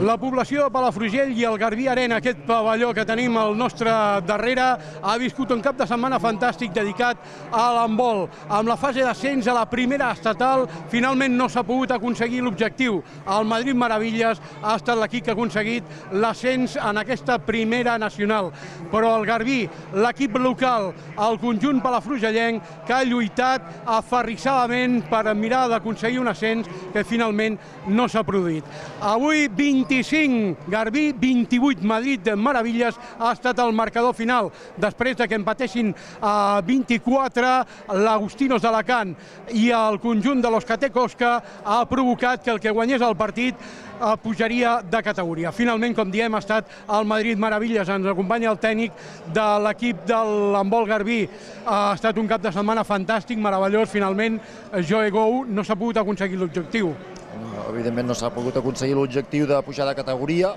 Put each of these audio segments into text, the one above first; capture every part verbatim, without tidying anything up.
La població de Palafrugell i el Garbí Arena, aquest pavelló que tenim al nostre darrere, ha viscut un cap de setmana fantàstic dedicat a l'handbol. Amb la fase d'ascens a la primera estatal, finalment no s'ha pogut aconseguir l'objectiu. El Madrid Maravillas ha estat l'equip que ha aconseguit l'ascens en aquesta primera nacional. Però el Garbí, l'equip local, el conjunt palafrugellenc, que ha lluitat aferrissadament per mirar d'aconseguir un ascens que finalment no s'ha produït. Avui, vint-i-cinc Garbí, vint-i-vuit Madrid Maravillas ha estat el marcador final, després que empatessin a vint-i-quatre l'Agustinos d'Alacant i el conjunt de l'Euskadi Koska ha provocat que el que guanyés el partit pujaria de categoria. Finalment, com diem, ha estat el Madrid Maravillas. Ens acompanya el tècnic de l'equip de l'handbol Garbí. Ha estat un cap de setmana fantàstic, meravellós. Finalment, Joe Gou no s'ha pogut aconseguir l'objectiu. Evidentment no s'ha pogut aconseguir l'objectiu de pujar de categoria,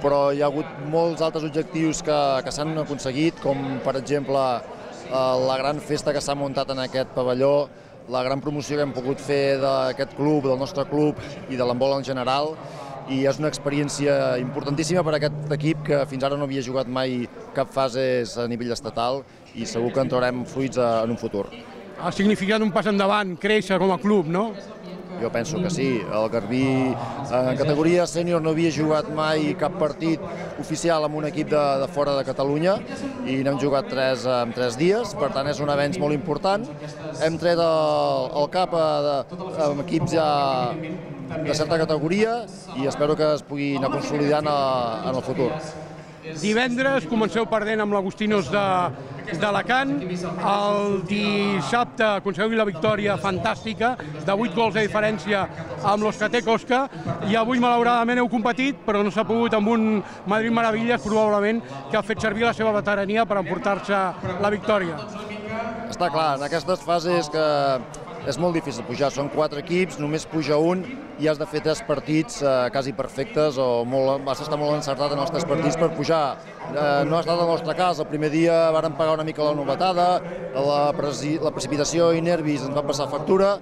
però hi ha hagut molts altres objectius que, que s'han aconseguit, com per exemple la gran festa que s'ha muntat en aquest pavelló, la gran promoció que hem pogut fer d'aquest club, del nostre club i de l'handbol en general, i és una experiència importantíssima per a aquest equip que fins ara no havia jugat mai cap fase a nivell estatal i segur que en traurem fruits en un futur. Ha significat un pas endavant, créixer com a club, no? Jo penso que sí. El Garbí en categoria sènior no havia jugat mai cap partit oficial amb un equip de, de fora de Catalunya i n'hem jugat tres en tres dies, per tant és un avenç molt important. Hem tret el, el cap a, de, amb equips ja de certa categoria i espero que es puguin anar consolidant a, en el futur. Divendres comenceu perdent amb l'Agustinos d'Alacant. El dissabte aconseguiu la victòria fantàstica de vuit gols de diferència amb l'Euskadi Koska i avui malauradament heu competit, però no s'ha pogut amb un Madrid Maravillas probablement que ha fet servir la seva veterania per emportar-se la victòria. Està clar, en aquestes fases que és molt difícil pujar, són quatre equips, només puja un i has de fer tres partits eh, quasi perfectes o molt, has d'estar molt encertat en els tres partits per pujar. Eh, no ha estat el nostre cas, el primer dia vàrem pagar una mica la novetada, la, la precipitació i nervis ens van passar factura,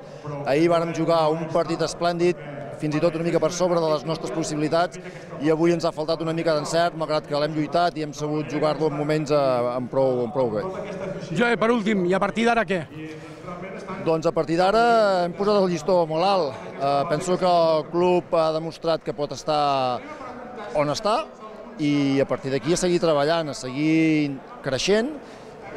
ahir vàrem jugar un partit esplèndid, fins i tot una mica per sobre de les nostres possibilitats i avui ens ha faltat una mica d'encert, malgrat que l'hem lluitat i hem sabut jugar-lo en moments eh, en prou, en prou bé. Joe, per últim, i a partir d'ara què? Doncs a partir d'ara hem posat el llistó molt alt. Eh, penso que el club ha demostrat que pot estar on està i a partir d'aquí a seguir treballant, a seguir creixent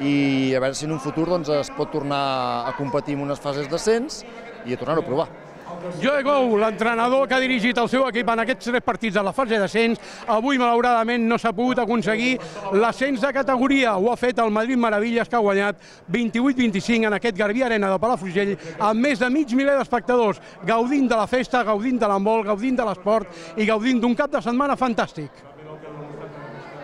i a veure si en un futur doncs, es pot tornar a competir en unes fases d'ascens i a tornar-ho a provar. Joe Gou, l'entrenador que ha dirigit el seu equip en aquests tres partits de la fase d'ascens, avui malauradament no s'ha pogut aconseguir l'ascens de categoria. Ho ha fet el Madrid Maravillas, que ha guanyat vint-i-vuit vint-i-cinc en aquest Garbí Arena de Palafrugell amb més de mig miler d'espectadors, gaudint de la festa, gaudint de l'handbol, gaudint de l'esport i gaudint d'un cap de setmana fantàstic.